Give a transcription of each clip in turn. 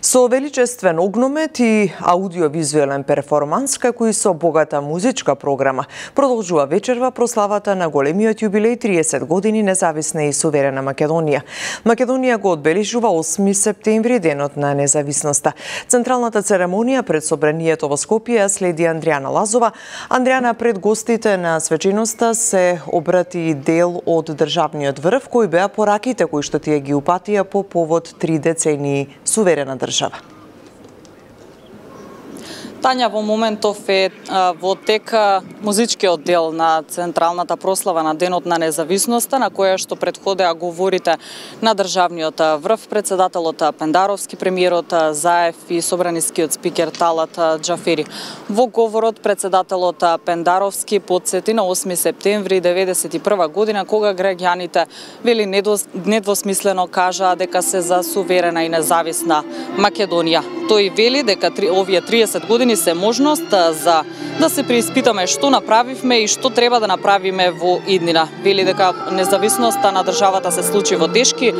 Со величествен огномет и аудиовизуелен перформанс, како и со богата музичка програма, продолжува вечерва прославата на големиот јубилеј 30 години независна и суверена Македонија. Македонија го одбележува 8 септември, денот на независноста. Централната церемонија пред собранието во Скопје следи Андријана Лазова. Андријана, пред гостите на свеченоста се обрати дел од државниот врв, кои беа пораките кои што тие ги упатија по повод 3 децении суверена држава. Тања, во моментов е во тек музичкиот дел на централната прослава на Денот на независноста, на која што предходеа говорите на државниот врв, председателот Пендаровски, премиерот Заев и собранискиот спикер Талат Џафери. Во говорот председателот Пендаровски потсети на 8 септември 1991 година, кога граѓаните вели недвосмислено кажаа дека се за суверена и независна Македонија. Тој вели дека овие 30 години се можност за да се преиспитаме што направивме и што треба да направиме во иднина. Вели дека независноста на државата се случи во тешки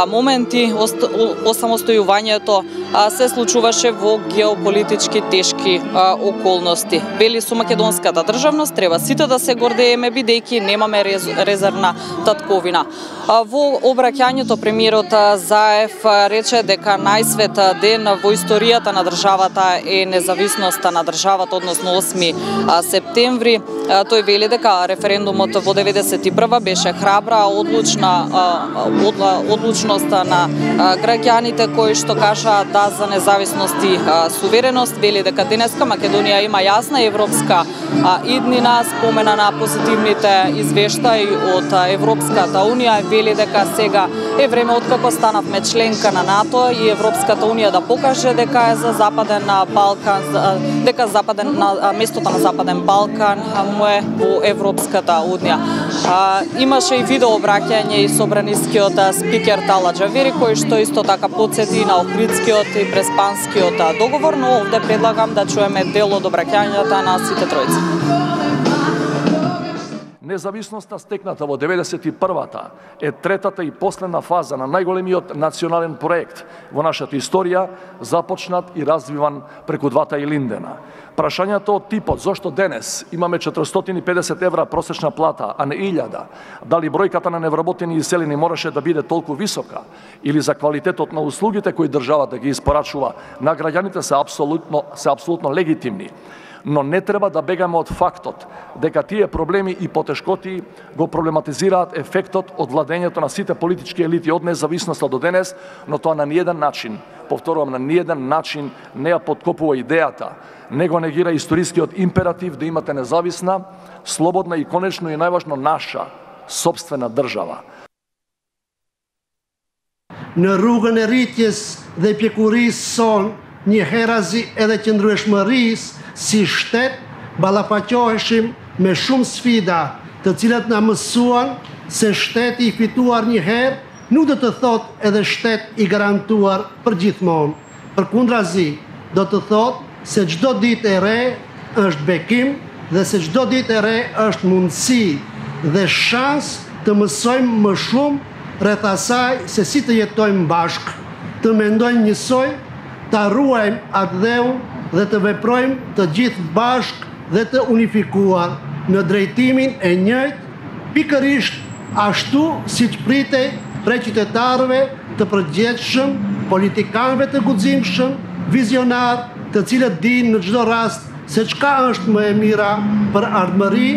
моменти, осамостојувањето се случуваше во геополитички тешки околности. Вели со македонската државност треба сите да се гордееме бидејќи немаме резервна татковина. Во обраќањето премиерот Заев рече дека најсвет ден во историјата на државата е независноста на државата, односно 8 септември. Тој вели дека референдумот во 91 беше храбра, одлучност на граѓаните кои што кажаа да за независност и сувереност. Вели дека денеска Македонија има јасна европска иднина, спомена на позитивните извештаи од Европската унија. Вели дека сега е време откако станавме членка на НАТО и Европската унија да покаже дека е за Западен Балкан, дека местото на Западен Балкан му е во Европската унија. Имаше и видео обраќање и собранискиот спикер Талат Џафери, кој што исто така потсети на Охридскиот и Преспанскиот договор, но овде предлагам да чуеме дел од обраќањата на сите тројци. Независноста стекната во 91-та е третата и последна фаза на најголемиот национален проект во нашата историја, започнат и развиван преку двата Илиндена. Прашањето од типот зошто денес имаме 450 евра просечна плата, а не 1000, дали бројката на невработени иселени мораше да биде толку висока, или за квалитетот на услугите кои државата ги испорачува на граѓаните се апсолутно легитимни. Но не треба да бегаме од фактот дека тие проблеми и потешкоти го проблематизираат ефектот од владењето на сите политички елити од независноста до денес, но тоа на ниеден начин, повторувам, на ниеден начин не ја подкопува идејата, не го негира историскиот императив да имате независна, слободна и конечно и најважно наша сопствена држава. Në rrugën e rritjes dhe pjekurisë son, njëherazi edhe qëndrueshmërisë si shtet ballafaqoheshim me shumë sfida, të cilat na mësuan se shteti i fituar një herë nuk do të thotë edhe shtet i garantuar për gjithmonë. Përkundrazi, do të thotë se çdo ditë e re është bekim dhe se çdo ditë e re është mundësi dhe shans të mësojmë më shumë rreth asaj se si të jetojmë bashkë, të mendojmë njësoj, ta ruajmë atë dheu dhe të veprojmë të gjithë bashkë dhe të unifikuar në drejtimin e njëjtë, pikërisht ashtu siç pritej prej qytetarëve të përgjithshëm, politikanëve të guximshëm, vizionar, të cilët dinë në çdo rast se çka është më e mira për ardhmëri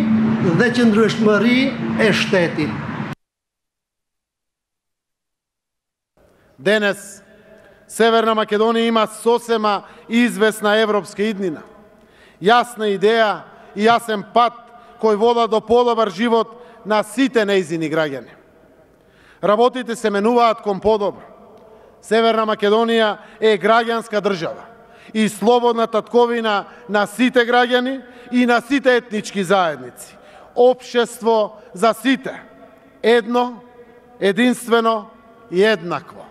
dhe qëndrueshmëri e shtetit. Денес Северна Македонија има сосема известна европска иднина. Јасна идеја и јасен пат кој вода до подобар живот на сите нејзини граѓани. Работите се менуваат кон подобро. Северна Македонија е граѓанска држава и слободна татковина на сите граѓани и на сите етнички заедници. Општество за сите. Едно, единствено и еднакво.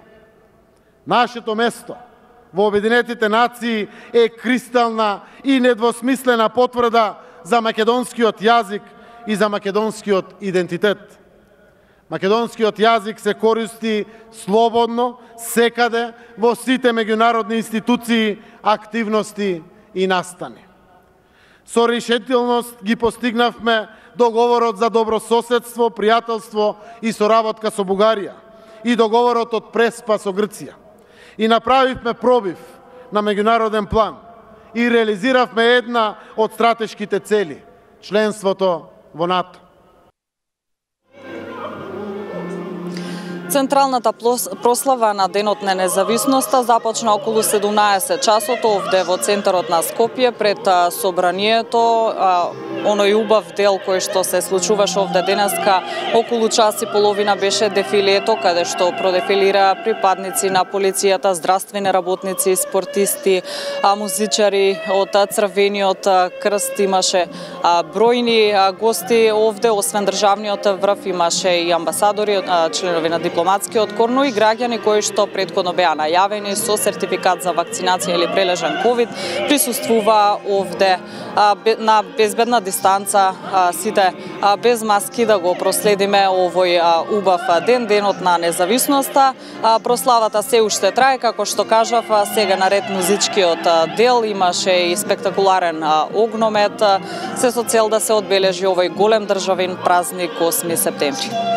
Нашето место во Обединетите нации е кристална и недвосмислена потврда за македонскиот јазик и за македонскиот идентитет. Македонскиот јазик се користи слободно, секаде, во сите меѓународни институции, активности и настани. Со решителност ги постигнавме договорот за добрососедство, пријателство и соработка со Бугарија и договорот од Преспа со Грција. И направивме пробив на меѓународен план и реализиравме една од стратешките цели – членството во НАТО. Централната прослава на Денот на независноста започна околу 17 часот овде во центарот на Скопје пред собранието. Оној убав дел кој што се случуваше овде денеска околу час и половина беше дефилето, каде што продефилира припадници на полицијата, здравствени работници, спортисти, музичари од Црвениот крст. Имаше бројни гости овде, освен државниот врв имаше и амбасадори, членови на дипломатскиот кор, но и граѓани кои што претходно беа најавени со сертификат за вакцинација или прележан ковид, присуствува овде на безбедна дистанца, сите без маски, да го проследиме овој убав ден, Денот на независноста. Прославата се уште трае, како што кажав, сега наред музичкиот дел, имаше и спектакуларен огномет, се со цел да се одбележи овој голем државен празник 8 септември.